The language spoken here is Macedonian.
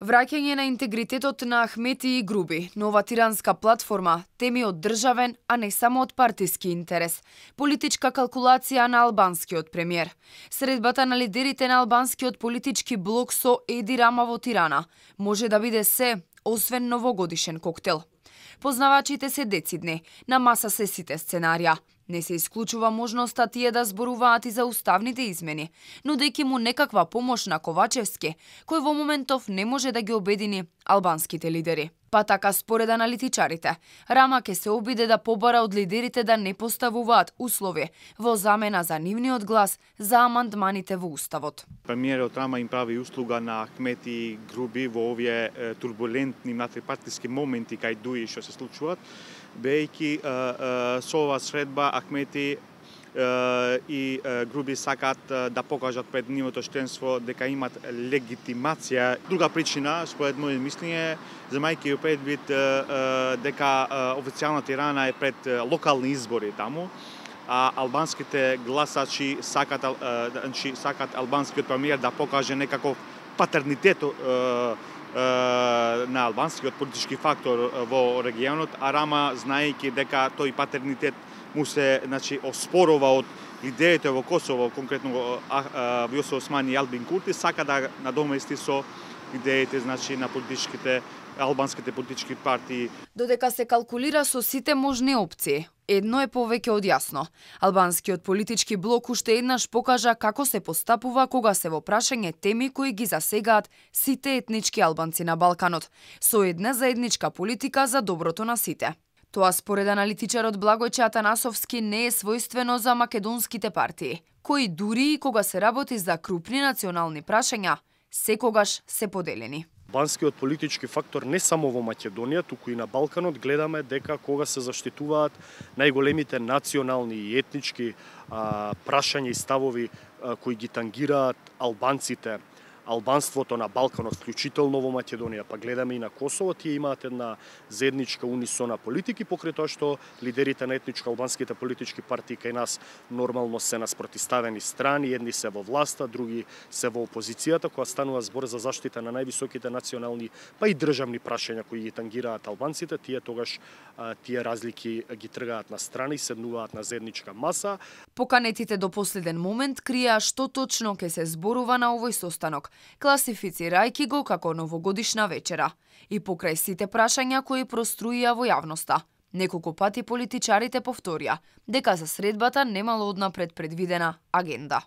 Враќање на интегритетот на Ахмети и Груби, нова тиранска платформа, теми од државен, а не само од партиски интерес, политичка калкулација на албанскиот премиер. Средбата на лидерите на албанскиот политички блок со Еди Рама во Тирана може да биде се, освен новогодишен коктел. Познавачите се децидни, на маса се сите сценарија. Не се исклучува можноста тие да зборуваат и за уставните измени, нудејќи му некаква помош на Ковачевски, кој во моментов не може да ги обедини албанските лидери. Па така според аналитичарите, Рама ќе се обиде да побара од лидерите да не поставуваат услови во замена за нивниот глас за амандманите во Уставот. Премиерот Рама им прави услуга на Ахмети и Груби во овие турбулентни внатрипартиски моменти кај дуи што се случуваат, бејќи со ова средба Ахмети и Груби сакат да покажат пред нивото членство дека имат легитимација. Друга причина, според моје мислење, земајќи предвид дека официјална Тирана е пред локални избори таму, а албанските гласачи сакат албанскиот премиер да покаже некаков патернитет на албанскиот политички фактор во регионот, а Рама, знаејќи дека тој патернитет му се оспорува од лидерите во Косово, конкретно Вјосо Османи и Албин Курти, сака да надомести со идеите на албанските политички партии. Додека се калкулира со сите можни опции, едно е повеќе од јасно. Албанскиот политички блок уште еднаш покажа како се постапува кога се во прашање теми кои ги засегаат сите етнички албанци на Балканот, со една заедничка политика за доброто на сите. Тоа според аналитичарот Благојче Атанасовски не е својствено за македонските партии, кои дури и кога се работи за крупни национални прашања, секогаш се поделени. Албанскиот политички фактор не само во Македонија, туку и на Балканот гледаме дека кога се заштитуваат најголемите национални и етнички прашања и ставови кои ги тангираат албанците, албанството на Балканот, вклучително во Македонија, па гледаме и на Косово, тие имаат една заедничка унисона политики, покрај тоа што лидерите на етничко албанските политички партии кај нас нормално се на спротивставени страни, едни се во власта, други се во опозицијата, кога станува збор за заштита на највисоките национални, па и државни прашања кои ги тангираат албанците, тие тогаш тие разлики ги тргаат на страни и седнуваат на заедничка маса. Поканетите до последен момент криеа што точно ќе се зборува на овој состанок, класифицирајќи го како новогодишна вечера. И покрај сите прашања кои проструија во јавноста, неколку пати политичарите повторија дека за средбата немало однапред предвидена агенда.